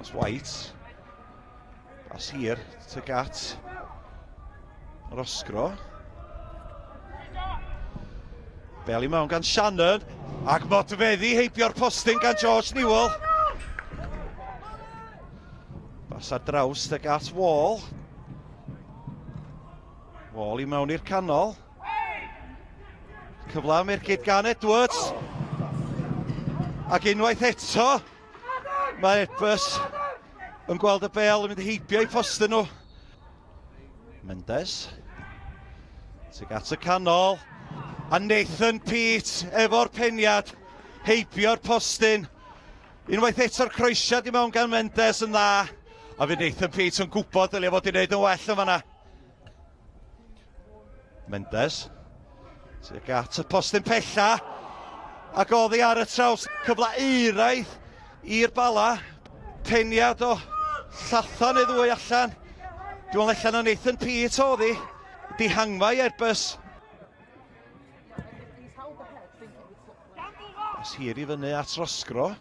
Pas White. Pas hir tuag at Roscrow. Bel i mewn gan Shannon. Ac modfeddi heibio'r postyn gan George Newell. Pas ar draws tuag at Wall. Wall i mewn i'r canol. Cyfle am ergyd gan Edwards. Ac unwaith eto, mae Airbus yn gweld y bel yn mynd heibio i postyn nhw. Mendes. Tuag at y canol. A Nathan Peate efo'r peniad. Heibio'r postyn. Unwaith eto'r croesiad i mewn gan Mendes yn dda. A fydd Nathan Peate yn gwybod dylia fod i wneud yn well yn fanna. Mendes. Tuag at y postyn pella. Ac oddi ar y traws. Cyfle euraidd i'r Bala. Peniad o llathan neu ddwy allan. Dwi'n meddwl allan o Nathan Peate oedd hi. Dihangfa i Airbus. Pas hir i fyny at Roscrow.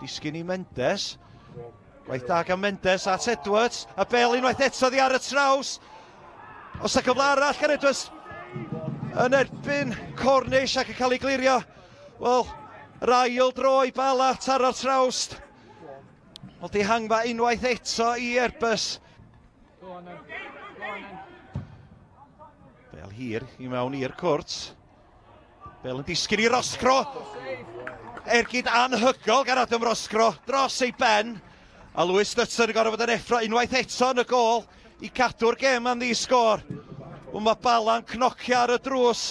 Disgyn i Mendes. Gwaith da gan Mendes at Edwards. A bel unwaith eto oddi ar y traws. Os y cyfle arall gan Edwards yn erbyn Cornish ac yn cael ei glirio. Wel, yr ail dro i Bala taro'r trawst. Wel, dihangfa unwaith eto i Airbus. Bel hir i mewn i'r cwrt. Bel yn disgyn i Roscrow. Ergyd anhygol gan Adam Roscrow dros ei ben. A Lewis Dutton yn gorfod fod yn effro unwaith eto yn y gôl i cadw'r gêm am ddi-sgôr. Wel, mae Bala'n cnocio ar y drws.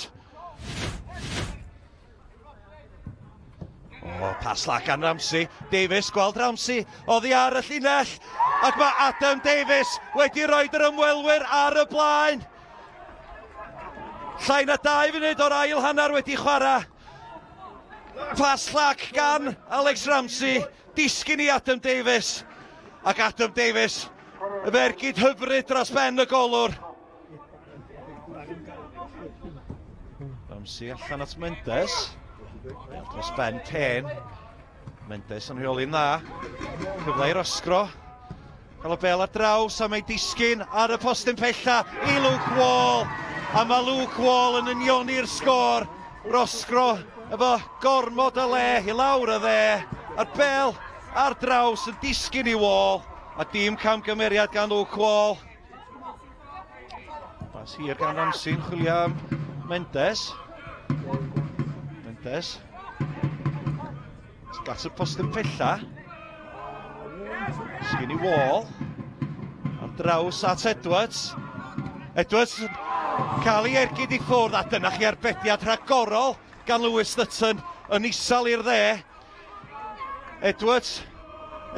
O, pas la gan Ramsey. Davies, gweld Ramsey oddi ar y llinell. Ac mae Adam Davies wedi rhoi'r ymwelwyr ar y blaen. Llai na 2 funud o'r ail hanner wedi chwarae. Pas llac gan Alex Ramsey. Disgyn i Adam Davies. Ac Adam Davies, y fergyd hyfryd dros ben y golwr. Ramsey allan at Mendes. Bel dros ben Pen. Mendes yn rheoli'n dda. Cyfle i Roscrow. Cael y bel ar draws a mae disgyn ar y postyn pella i Luke Wall. A mae Luke Wall yn unioni'r sgôr. Roscrow efo gormod o le i lawr y dde. A'r bel ar draws yn disgyn i Wall. A dim camgymeriad gan Luke Wall. Pas hir gan Ramsey yn chwilio am Mendes. Mendes. Gat y postyn pella. Sgyn i Wall. Ar draws at Edwards. Edwards cael ei ergyd i ffwrdd. A dyna chi arbediad rhagorol gan Lewis Dutton yn isel i'r dde. Edwards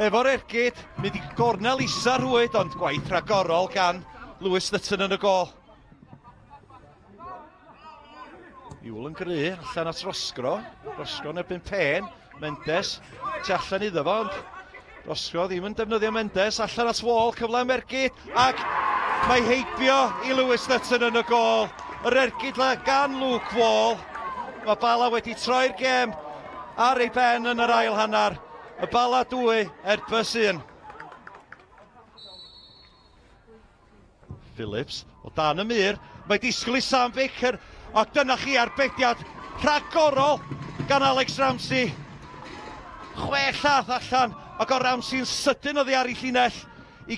efo'r ergyd, mynd i gornel isa rhwyd, ond gwaith rhagorol gan Lewis Dutton yn y gôl. Iwl yn gry, allan at Roscrow. Roscrow yn erbyn Pen. Mendes, tu allan iddo fo, ond Roscrow ddim yn defnyddio Mendes. Allan at Wall, cyfle am ergyd, ac mae heibio i Lewis Dutton yn y gôl. Yr ergyd la gan Luke Wall. Mae Bala wedi troi'r gêm ar ei ben yn yr ail hanner. Y Bala 2, Airbus 1. Phillips o dan y mur. Mae disgwyl i Sam Baker. Ac dyna chi arbediad rhagorol gan Alex Ramsey. 6 llath allan ac o Ramsey'n sydyn oddi ar ei llinell i